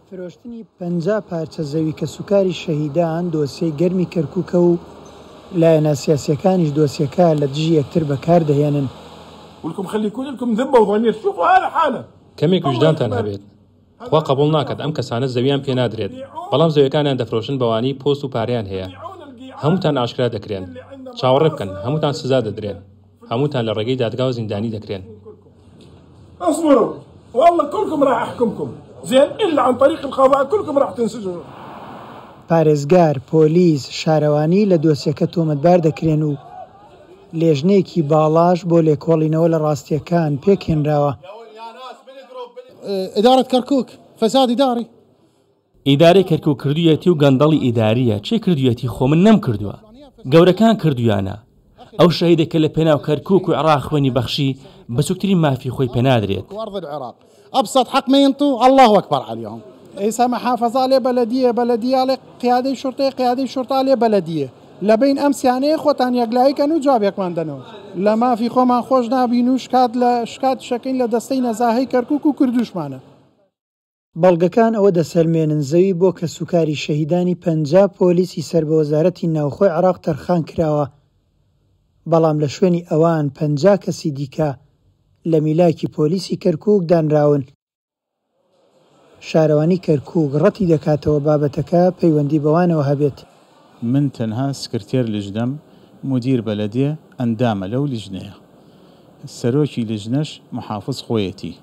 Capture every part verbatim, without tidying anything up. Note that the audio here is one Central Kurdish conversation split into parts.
فرۆشتنی پەنجا پارچە زەوی کەسوکاری شەهیدان دۆسیەی گەرمی کەرکوکە و لایەنە سیاسیەکانیش دۆسیەکە لە دژی یەکتر بەکاردەهێنن. ولكم خلي يكون لكم ذمه وضمير، شوفوا هذا حاله. کەمێک ویژدانتان هەبێت، خوا قبوڵ ناکات ئەم کەسانە زەویان پێ نادرێت، بەڵام زەویەکانیان دەفرۆشن بەوانەی پۆست و پارەیان هەیە. هەمووتان ئاشکرا دەکرێن، چاوەڕێ بکەن، هەمووتان سزا دەدرێن، هەمووتان لە ڕێگەی دادگاوە زیندانی دەکرێن. اصبروا والله كلكم راح احكمكم زين الا عن طريق القضاء كلكم راح تنسجنوا. پارێزگار، پۆلیس، شارەوانی لە دۆسیەکە تۆمەتبار دەکرێن و لێژنەیەکی باڵاش بۆ لێکۆڵینەوە لە ڕاستیەکان پێکهێنراوە. إدارة كركوك فساد إداري. ئیدارەی کەرکوک کردوویەتی و گەندەڵی ئیداریە. چێ کردوویەتی؟ خۆ من نەمکردووە، گەورەکان کردویانە. ئەو شەهیدە کە لە پێناو کەرکوک و عێراق خوێنی بەخشی بچووکترین مافی خۆی پێنادرێت. وأرض العراق أبسط حق ما ينطوا، الله أكبر عليهم. ئێستا محافظة لێ بەلەدیە، بەلەدیە لێ قیادەی شورتەیە، قیادەی شورتە لێ بەلەدیە. لە بین ئەم سیانەیە خۆتان یەکلاییکەن و جوابێکمان دەنەوە. لە مافی خۆمان خۆش نابین و شکات لە شکات شەکەین لە دەستەی نەزاهەی کەرکوک و کردوشمانە. بەڵگەکان ئەوە دەسەلمێنن زەوی بۆ کەسوکاری شەهیدانی پەنجا پۆلیسی سەر بە وەزارەتی ناوخۆی عێراق تەرخان کراوە، بەڵام لە شوێنی ئەوان پەنجا کەسی دیکە لە میلاکی پۆلیسی کەرکوک دانراون. شارەوانی کەرکوک ڕەتی دەکاتەوە بابەتەکە پەیوەندی بەوانەوە هەبێت. من تەنها سکرتێر لجنەم، مدیر بەلەدیە ئەندامە لەو لجنەیە، سەرۆکی لجنەش محافظ خۆیەتی،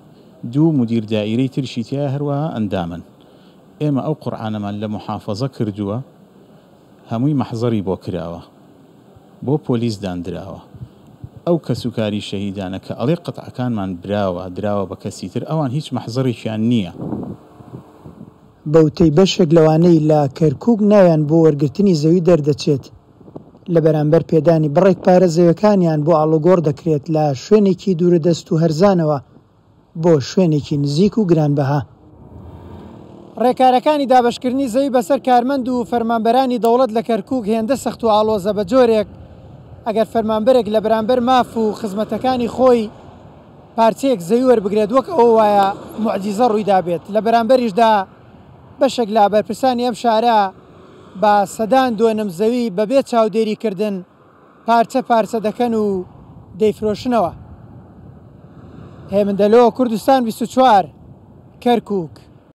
دوو مدیر دائیرەی ترشی تیا هەروەها ئەندامن. ئێمە ئەو قورئانەمان لە محافظە کردووە، هەمووی مەحزەری بۆ کراوە، بۆ پۆلیس داندراوە. ئەو کەسوکاری شەهیدانە کە ئەڵێ قەتعەکانمان براوە دراوە بە کەسی تر، ئەوان هیچ مەحزەرێکیان نییە. بەوتەی بەشێک لەوانەی لە کەرکوک ناویان بۆ وەرگرتنی زەوی دەردەچێت، لە بەرامبەر پێدانی بڕێک پارە زەویەکانیان بۆ ئاڵوگۆڕ دەکرێت لە شوێنێکی دوورەدەست و هەرزانەوە بۆ شوێنێکی نزیک و گرانبەها. ڕێکارەکانی دابەشکردنی زەوی بەسەر کارمەند و فەرمانبەرانی دەوڵەت لە کەرکوک هێندە سەخت و ئاڵۆزە بە جۆرێک ئەگەر فەرمانبەرێک لە بەرامبەر ماف و خزمەتەکانی خۆی پارچەیەک زەوی وەربگرێت وەک ئەوە وایە موعجیزە ڕوویدا بێت. لە بەرامبەریشدا بەشێک لە بەرپرسانی ئەم شارە بە سەدان دۆنم زەوی بەبێ چاودێریکردن پارچە پارچە دەکەن و دەیفرۆشنەوە. هێمن دەلۆ، کوردستان بیست و چوار، کەرکوک.